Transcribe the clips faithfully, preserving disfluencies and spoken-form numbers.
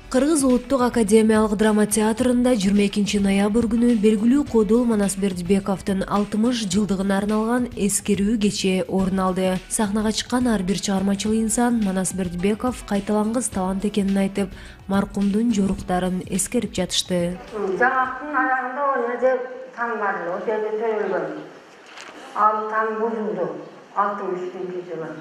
Кыргыз Улуттук академиялык драма театрында жыйырма экинчи ноябрь күнү белгилүү Кодул Манас Бердибековдун алтымыш жылдыгына арналган эскерүү кече орун алды. Сахнага чыккан ар бир чыгармачыл инсан Манас Бердибеков кайталангыс талант экенин айтып, маркумдун жоруктарын эскерип жатышты. Жаңактын аягында эмне деп таң бар эле, ошол жерде төрөлгөн. Ал таң бузулду алтымыш экинчи жылы.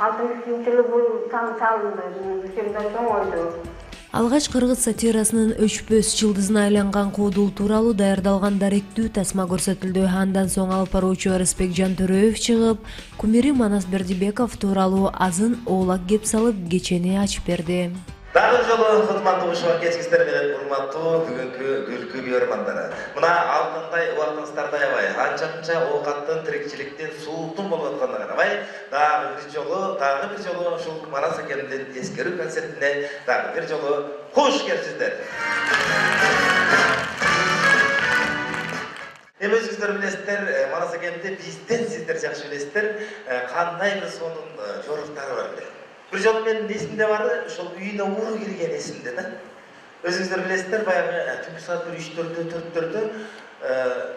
алтымыш экинчи жылы бул таң салынды, ошондо чоңойду. Алгач кыргыз сатирасынын өчпөс жылдызына айланган Кодул тууралуу даярдалган даректүү тасма көрсөтүлдү. Андан соң алып баруучу Арысбек Жантөрөев чыгып, кумири Манас Бердибеков тууралуу азын оолак кеп салып кечени ачып берди. Дагы жолу кызматтуу ушуга кечкистер менен урматтуу бүгүнкү күлкү көрөрмандары. Мына алтындай убактыңыздарда аябай анча-мынча оокаттын, тирикчиликтин, сууктун болуп атканына карабай, дагы бир жолу, дагы бир жолу ушул Манас акемдин эскерүү концертине дагы бир жолу кош келипсиздер. Эми өзүңүздөр билесиздер, Манас акемди бизден сиздер жакшы билесиздер, кандай бир сонун жоруктары бар эле. Bir жолу менин эсимде бары, ошол үйүнө ууру кирген эсимде да. Өзүңүздөр билесиздер, баягы түнкү саат бир үчтөрдө, төрттөрдө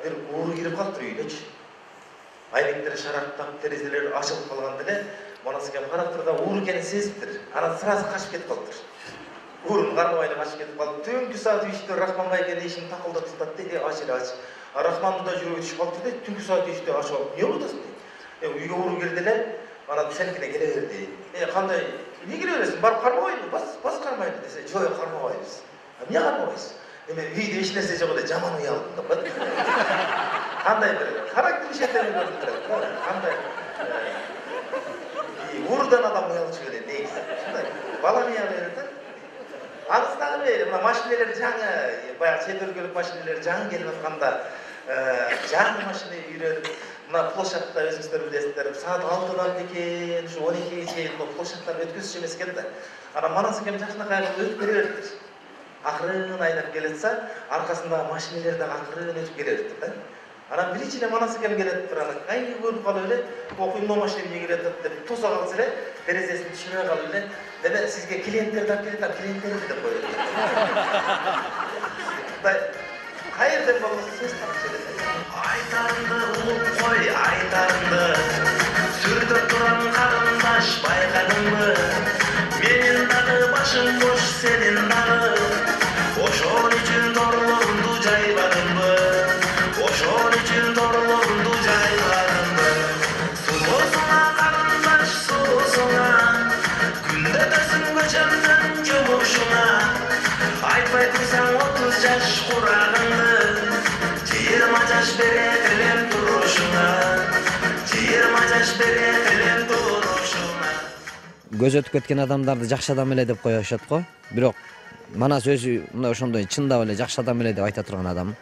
бир ууру кирип калыптыр үйүнөчү. Айнектер шарактап, терезелер ачылып калганда эле Манас акем карап туруп да ууру экенин сезиптир. Анан сразу качып кетип калыптыр. Уурун кармабай эле качып кетип калып, түнкү саат үчтө Рахман байкенин эшигин такылдатып атат дейт, ач эле ач. Рахмандын да жүрөгү түшүп калыптыр дейт, түнкү саат үчтө ачып алып, эмне болуп атасың дейт. Үйгө ууру кирди эле. Ana senikine gele verdi. E kanday, niye gele verirsin? Barıp karmabayın mı? Bas, bas karmayın dese. Yok karmabayız. Niye karmabayız? Deme, video iş neresi yok da caman uyaldım da. Kanday bir, karakter işletlerini gördüm. Kanday, uğurdan adam uyalıcı öyle neyse. Bala niye verirdi? Anısından verir. Maşineler canı, bayağı çetörgülük maşineler canı gelip atkanda canı maşineyi yürüdüm. Mына площадьта өзүңүздөр билесиздер, саат алтыдан экен, ушу он экиге чейин площадьтан өткөзүш эмес экен да. Анан Манас акем жакшынакай өтүп келе бериптир. Акырын айдап келетсе, аркасындагы машинелер дагы акырын өтүп келе бериптир да. Анан биринчи эле Манас акем келептир, анан кайсы көрүп калып эле, окуймо машина эмне келет деп тосо калса эле, терезесин түшүрө калып эле, "Деме сизге клиенттер да келет, клиенттерди" деп коет. Кайерден болсо сөз тапчу эле. Айтарымды улуп кой, айтарымды сүрдөп турам карындаш байкадыңбы? Менин дагы башым бош, сенин дагы. Ошон үчүн торлорумду жайбадымбы? Ошон үчүн торлорумду жайбадымбы? Сулуусуңа карындаш, сулуусуңа күндө өтөсүң көчөмдөн жумушуңа. Айтпай турсаң отуз жаш курагыңды, жыйырма жаш берет элем турушуңа, жыйырма жаш берет элем турушуңа. Көз өтүп кеткен адамдарды жакшы адам эле деп коюшат го. Бирок Манас өзү мындай ошондой чындап эле жакшы адам эле деп айта турган адам.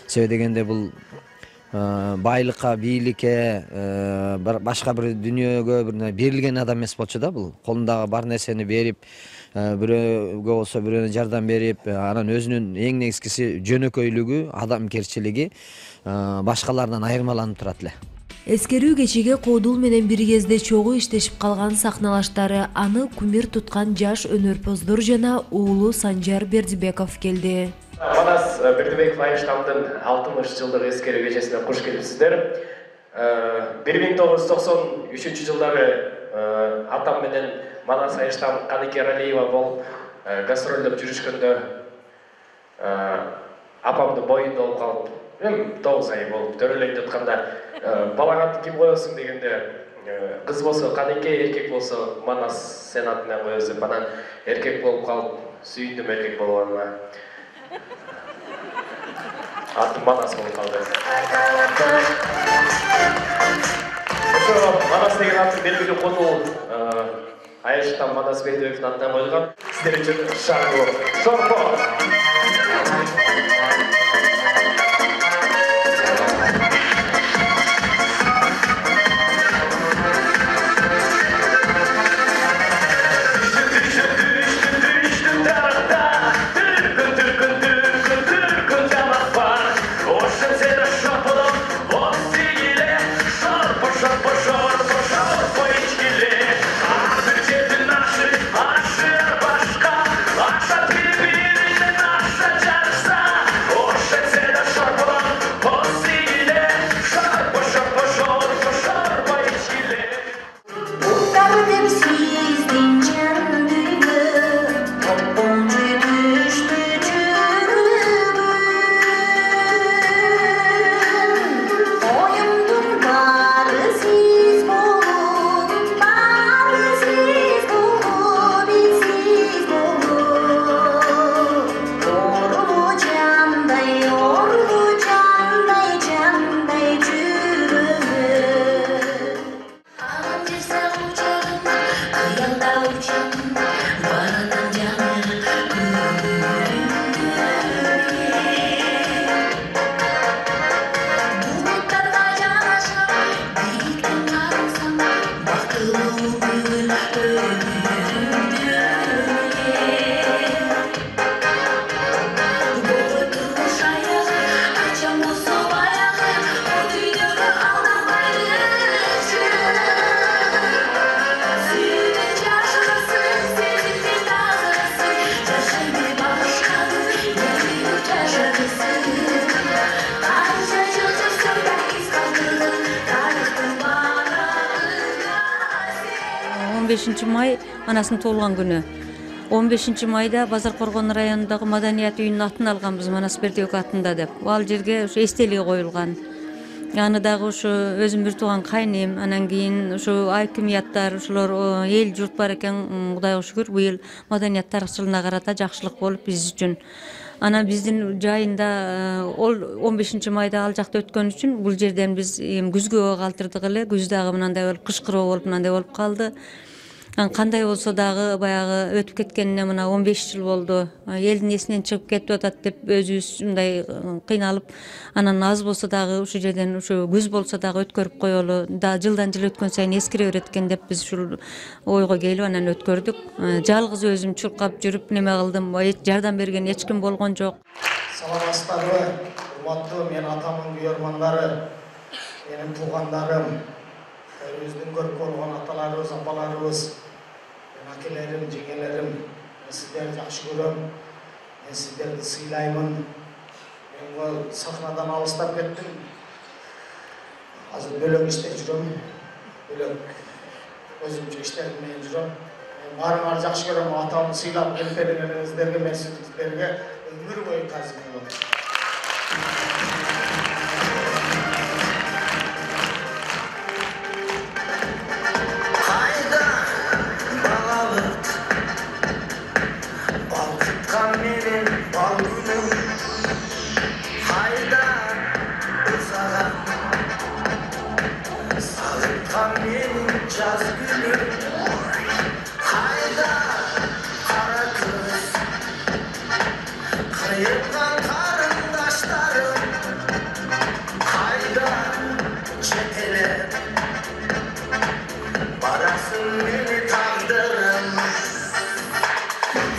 Себеби дегенде бул байлыкка, бийликке, башка бир дүйнөгө бир берилген адам эмес болчу да бул. Колундагы бар нерсени берип, бирөөгө болсо бирөөнө жардам берип, анан өзүнүн эң негизгиси жөнөкөйлүгү, адамкерчилиги башкалардан айырмаланып турат эле. Эскерүү кечиге Кодул менен бир кезде чогуу иштешип калган сахналаштары, аны кумир туткан жаш өнөрпоздор жана уулу Санжар Бердибеков келди. Манас Бердибеков Айштамдын алтымыш жылдык эскерүү кечесине кош келипсиздер. бир миң тогуз жүз токсон үчүнчү жылдары атам менен Манас Айштам Каныке Ралиева болуп гастролдоп жүрүшкөндө апамдын боюнда болуп калып, эми тогуз ай болуп төрөлөйт жатканда балаңарды ким коесуң дегенде, кыз болсо Каныке, эркек болсо Манас сен атынан коебуз деп, анан эркек болуп калып, сүйүндүм эркек болгонума. Атым Манас болуп калды. Ошо Манас деген атын белгилүү Кодул Айштам Манас Бердибековдун атынан коюлган. Сиздер үчүн шаргуу шорпо. Başka, başka bir бешинчи май анасынын туулган күнү. он бешинчи майда Базар Коргон районундагы маданият үйүнүн атын алганбыз, Манас Бердибек атында деп. Ал жерге ушу эстелиги коюлган. Аны дагы ушу өзүм бир тууган кайнем, анан кийин ушу акимияттар, ушулар эл журт бар экен. Кудайга шүгүр, быйыл маданият тарыхчылыгына карата жакшылык болуп биз үчүн. Анан биздин жайында ол он бешинчи майда ал жакта өткөн үчүн бул жерден биз эми күзгө калтырдык эле. Күз дагы мындай болуп, кыш кыроо болуп мындай болуп калды. Кандай болсо дагы баягы өтүп кеткенине мына он беш жыл болду. Элдин эсинен чыгып кетип атат деп өзүбүз мындай кыйналып, анан аз болсо дагы ушул жерден ушу күз болсо дагы өткөрүп коелу. Да жылдан жыл өткөн сайын эскире берет экен деп биз ушул ойго келип анан өткөрдүк. Жалгыз өзүм чуркап жүрүп неме кылдым. Жардам берген эч ким болгон жок. Саламатсыздарбы, урматтуу менин атамдын күйөрмандары, менин туугандарым, өзүбүздүн көрүп болгон аталарыбыз, апаларыбыз, акелерим, жеңелерим, мен сиздерди жакшы көрөм. Мен сиздерди сыйлаймын. Мен сахнадан алыстап кеттим. Азыр бөлөк иште жүрөм. Бөлөк өзүмчө иштерим менен жүрөм. Мен баарыңарды жакшы көрөм. Атамды сыйлап келип бергениңиздерге, мен сиздерге өмүр бою таазим кылам. Jazz günü, hayda kara kız, kayıpkan karındaşlarım, hayda çetele, barasın beni tandırım,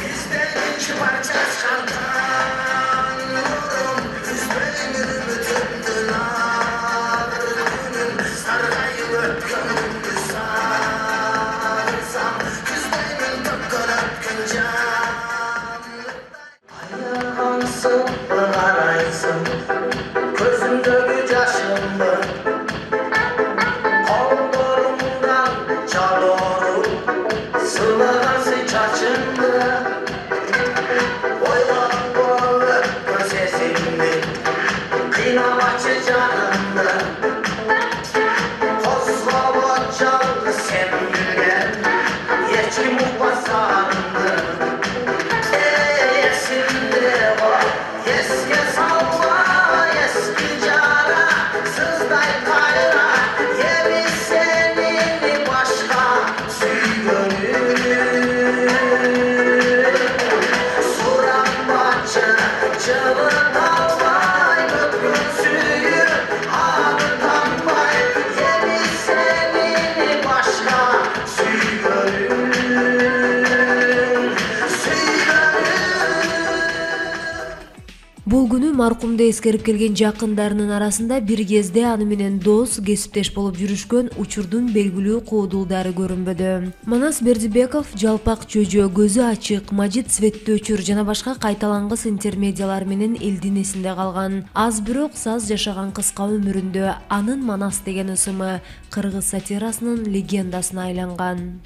bizden iki parça çıkartan nurum, üzmeyin ümütümdün ağır günüm, sargayım öpküm. Araysın, gözümdeki yaşımı, kollarımdan çalıyorum, sılağası çaçımı, oylan boğulu gözesimli, kıynamaçı canımı, kozlava çaldı sevgilgen, yeçki muhbasandı. Бул күнү маркумду эскерип келген жакындарынын арасында бир кезде аны менен дос, кесиптеш болуп жүрүшкөн учурдун белгилүү коодулдары көрүнбөдү. Манас Бердибеков жалпак чөжө, көзү ачык, мажит цветтүү өчүр жана башка кайталангыс интермедиялар менен элдин эсинде калган. Аз бирок саз жашаган кыска өмүрүндө анын Манас деген ысымы кыргыз сатирасынын легендасына айланган.